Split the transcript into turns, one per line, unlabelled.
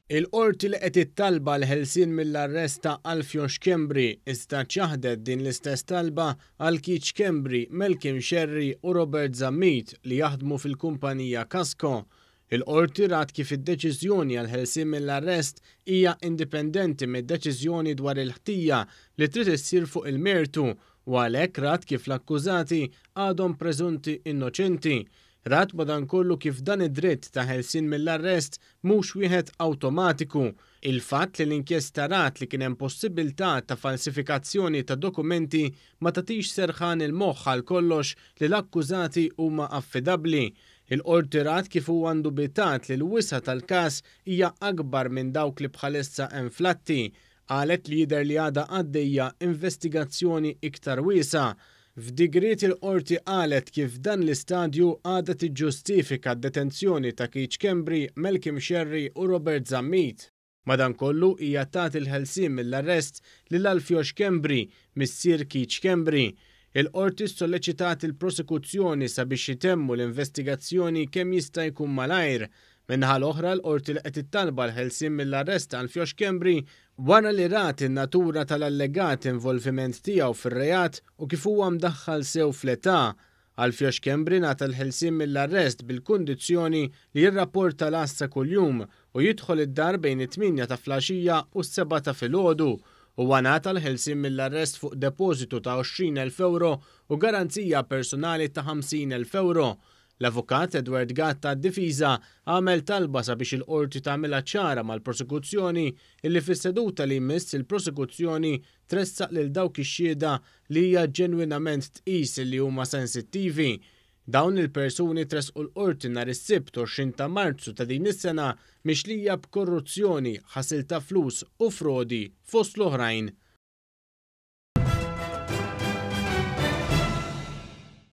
Il-Qorti laqgħet it-talba għall-ħelsien mill-arrest ta' Alfio Schembri iżda ċaħdet din l-istess talba għal Keith Schembri, Malcolm Scerri u Robert Zammit li jaħdmu fil-kumpanija Kasco. Il-Qorti rat kif id-deċiżjoni għall-ħelsien mill-arrest hija indipendenti mid-deċiżjoni dwar il-ħtija li trid issir fuq il-mertu u għalhekk rat kif l-akkużati għadhom preżunti innoċenti. Rat madankollu kif dan id-dritt ta' ħelsien mill-arrest mhux wieħed awtomatiku. Il-fatt li l-inkjesta rat li kien hemm possibilità ta' falsifikazzjoni ta' dokumenti ma tagħtix serħan il-moħħ għal kollox li l-akkużati huma affidabbli. Il-Qorti rat kif huwa ndubitat li l-wisa' tal-każ hija akbar minn dawk li bħalissa hemm fl-atti. Qalet li jidher li għadha għaddejja investigazzjoni iktar wiesgħa. F'digriet il-Qorti qalet kif f'dan l-istadju għadha tiġġustifika d-detenzjoni ta' Keith Schembri, Malcolm Scerri u Robert Zammit. Madankollu hija tat il-ħelsien mill-arrest lil Alfio Schembri, missier Keith Schembri. Il-Qorti ssolleċitat il-prosekuzzjoni sabiex itemmu l-investigazzjoni kemm jista' jkun malajr. Min-naħa l-oħra l-Qorti laqgħet it-talba għall-ħelsien mill-arrest ta' Alfio Schembri wara li rat in-natura tal-allegat involviment tiegħu fir-reat u kif huwa mdaħħal sew fl-età. Alfio Schembri ngħata l-ħelsien mill-arrest bil-kundizzjoni li jirrapporta l-għassa kuljum u jidħol id-dar bejn it-tmienja ta' flaxija u s-sebgħa ta' filgħodu. Huwa ngħata l-ħelsien mill-arrest fuq depożitu ta' 20,000 ewro u garanzija personali ta' 50,000 ewro. L-Avukat Edward Gatt għad-difiża għamel talba sabiex il-Qorti tagħmilha ċara mal-prosekuzzjoni illi fis-seduta li jmiss il-prosekuzzjoni tressaq lil dawk ix-xhieda li hija ġenwinament tqis illi huma sensittivi. Dawn il-persuni tressqu l-Qorti nhar is-Sibt 20 ta' Marzu ta' din is-sena mixlija b'korruzzjoni, ħasil ta' flus u frodi fost l-oħrajn.